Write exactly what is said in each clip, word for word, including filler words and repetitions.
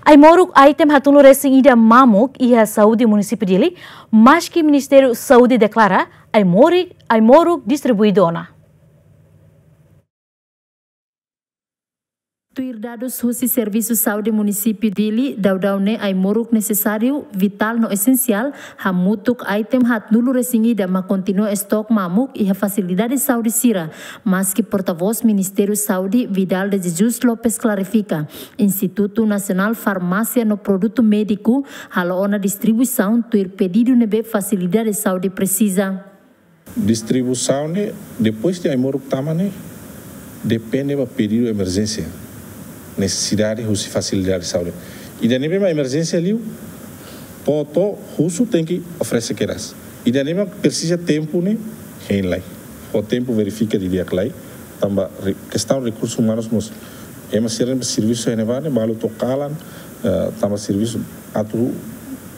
Ai-moruk item haat-nulu resin ida mamuk iha Saúde Munisípiu Dili, maski Ministériu Saúde deklara ai-moruk, ai-moruk distribuídu ona. Tuir dadus husi Servisu Saúde Munisípiu Dili, daudaun ne'e ai-moruk nesesáriu, vitál no esensiál, hamutuk item haat-nulu resin ida mak kontinua estok mamuk iha fasilidade saúde sira, maski portavós Ministériu Saúde, Vidal de Jesus Lopes, klarifika, Institutu Nasionál Farmásia no Produtu Médiku halo ona distribuisaun tuir pedidu ne'ebé fasilidade saúde presiza. Distribuisaun ne'e, depois de ai-moruk tama ne'e, depende ba pedidu emerjénsia, nesesidade husi fasilidade saúde. Ida ne'ebé mak emerjénsia liu, to'o husu tenke oferese kedas. Ida ne'ebé mak presiza tempu ne'e, hein lai. Ho tempu verifika didi'ak lai, tanba re-, kestaun rekursus umanus mós. Ema sira ne'ebé servisu iha ne'ebá ne'e, balu to'o kalan, eh, tanba servisu atu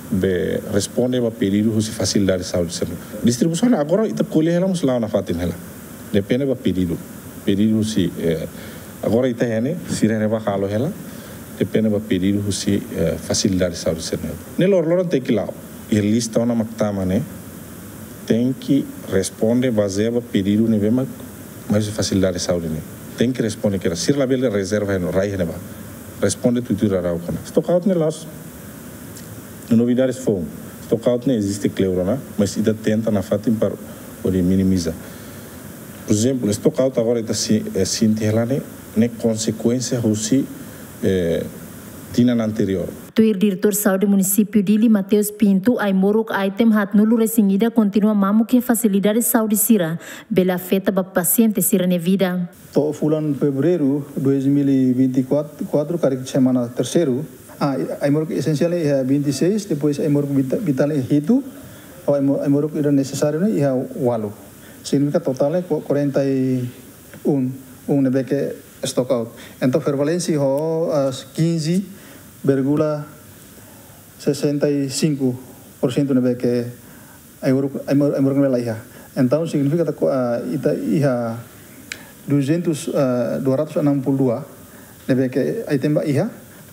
bele responde ba pedidu husi fasilidade saúde sira. Distribuisaun agora ita ko'alia hela mós la'o nafatin hela. Depende ba pedidu. Pedidu husi, eh, agora ita iha ne'e, sira ne'ebá halo hela. Depende ba pedidu husi, eh, fasilidade saúde sira. Ne'e loroloron tenke la'o. Iha lista ona mak tama ne'e, tenke responde bazeia ba pedidu ne'ebé mak mai husi fasilidade saúde ne'e. Tenke responde kedas. Sira labele rezerva iha ne'e, rai iha ne'ebá. Responde tuir rauk ona. Stockout ne'e la'ós novidade foun. Stockout ne'e eziste kleur ona, mas ita tenta nafatin para hodi minimiza. Por ezemplu, stockout agora ita si-, eh, sente hela ne'e, ne'e konsekuénsia husi, eh, tinan anteriór. Tuir Diretór Saúde Munisípiu Dili, Mateus Pinto, ai-moruk item haat-nulu resin ida kontinua mamuk iha fasilidade saúde sira, bele afeta ba pasiente sira-nia vida. To'o fulan Fevereiru dois mil e vinte e quatro, karik semana terseiru, ah, ai-moruk esensiál ne'e iha vinte e seis, depois ai-moruk vita-, vitál ne'e hitu, ho ai-mo-, ai-moruk ida nesesáriu ne'e iha ualu. Signifika totál ne'e ku-, quarenta e um, um ne'ebé ke stockout. Entaun, prevalénsia ho, ah, quinze vírgula sessenta e cinco por cento ne'ebé ke ai-moruk, ai-mor-, ai-moruk ne'e la iha. Entaun, signifika katak, ah, ita iha duzentos, ah, dua ratus enam puluh dua ne'ebé ke item ba iha,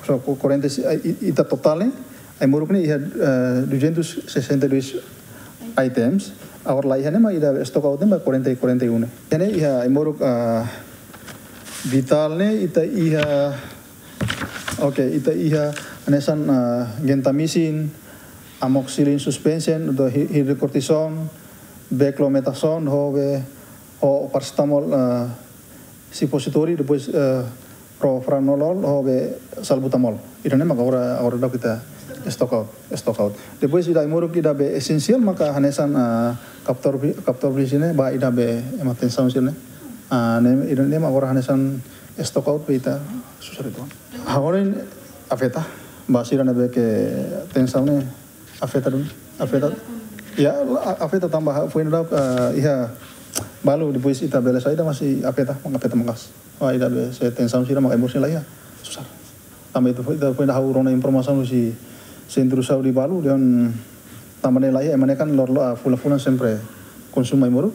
so, ku-, quarenta, ah, i-, ita totál ne'e, ai-moruk ne'e iha, ah, duzentos sessenta e dois items, agora la iha ne'e mak ida stockout ne'e mak quarenta, quarenta e um ne'e. Iha ne'e iha ai-moruk, ah, vitál ne'e, ita iha, oke, ita iha hanesan, ah, gentamicin, amoxicillin suspension, entaun hi-, hidrocortisone, beclomethasone, ho be, ho paracetamol, ah, suppository, depois, eh, propranolol, ho be salbutamol. Ida ne'e maka agora, agora daudaun ita stockout, stockout. Depois ida ai-moruk ida be esensiál maka hanesan, ah, kaptor, kaptor ne'e ba ida be ema tensaun sira ne'e. Ah, ne'e, ida ne'e maka agora hanesan stockout be ita susar uitoan. Agora ne'e afeta, ba sira ne'ebé ke tensaun ne'e afeta duni, afeta. Ya, la-, a-, afeta tanba ha-, foin daudauk, ah, iha balu depois ita bele saida masih afeta, maka afeta maka'as. Wah, ida be se tensaun sira maka emosi la iha. Susar. Tanba ita foin, ita foin daudauk rona informasaun husi sentru saúde balu, dehan tanba ne'e la iha, ema ne'e kan lor-, lo-, ah, fulan-fulan sempre konsumu ai-moruk,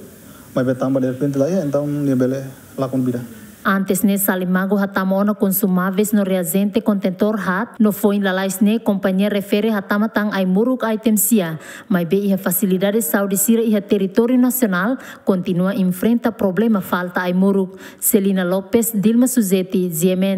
maibé tanba derrepente la iha, entaun nia bele lakon vida. Antes ne'e Salimagu hatama ona konsumáveis no reajente kontentór haat, no foin lalais ne'e kompañia refere hatama tan ai-moruk item sia, maibé iha fasilidade saúde sira iha territóriu nasionál kontinua enfrenta problema falta ai-moruk. Celina Lopes, Dilma Suzeti, G M N.